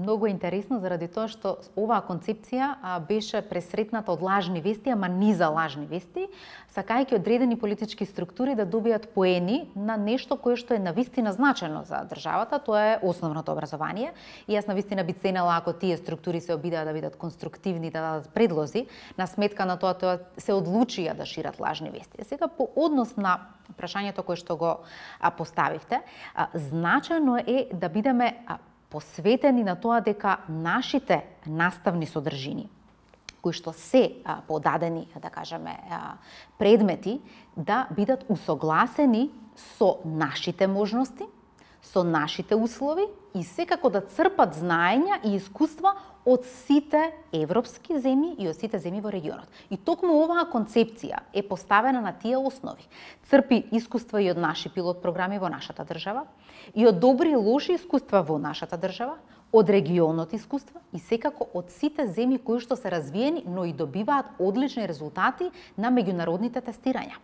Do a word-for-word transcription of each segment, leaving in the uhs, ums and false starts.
многу интересно заради тоа што оваа концепција беше пресретната од лажни вести, ама низа лажни вести, сакајќи одредени политички структури да добијат поени на нешто кое што е навистина значено за државата, тоа е основното образование. И јас навистина би ценела ако тие структури се обидаа да бидат конструктивни, да дадат предлози, на сметка на тоа тоа се одлучија да шират лажни вести. Сега по однос на прашањето кое што го поставивте, значајно е да бидеме посветени на тоа дека нашите наставни содржини, кои што се а, подадени, да кажеме, а, предмети, да бидат усогласени со нашите можности, со нашите услови и секако да црпат знаења и искуства од сите европски земји и од сите земји во регионот. И токму оваа концепција е поставена на тие основи. Црпи искуства и од наши пилот програми во нашата држава, и од добри и лоши искуства во нашата држава, од регионот искуства и секако од сите земји кои што се развиени, но и добиваат одлични резултати на меѓународните тестирања.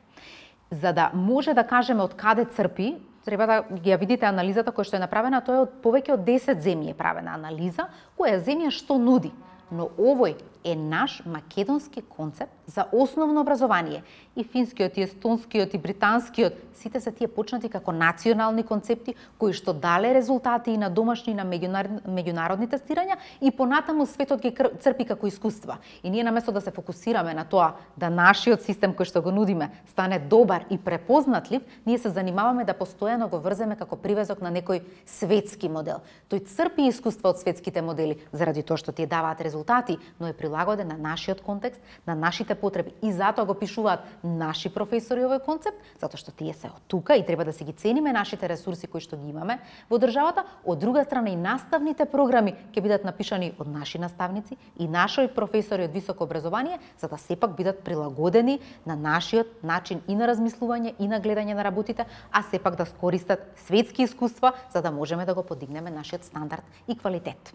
За да може да кажеме од каде црпи, треба да ги ја видите анализата која што е направена, тоа е од повеќе од десет земји е правена анализа, која земја што нуди. Но овој е наш македонски концепт за основно образование. И финскиот, и естонскиот, и британскиот, сите се тие почнати како национални концепти кои што дале резултати и на домашни и на меѓународни тестирања и понатаму светот ги црпи како искуства. И ние наместо да се фокусираме на тоа да нашиот систем кој што го нудиме стане добар и препознатлив, ние се занимаваме да постојано го врземе како привезок на некој светски модел. Тој црпи искуства од светските модели заради тоа што тие даваат резултати, но е прилагоден на нашиот контекст, на нашите потреби и затоа го пишуваат наши професори овој концепт, затоа што тие се од тука и треба да се ги цениме нашите ресурси кои што ги имаме во државата. Од друга страна и наставните програми ќе бидат напишани од наши наставници и наши професори од високо образование, за да сепак бидат прилагодени на нашиот начин и на размислување и на гледање на работите, а сепак да скористат светски искуства за да можеме да го подигнеме нашиот стандард и квалитет.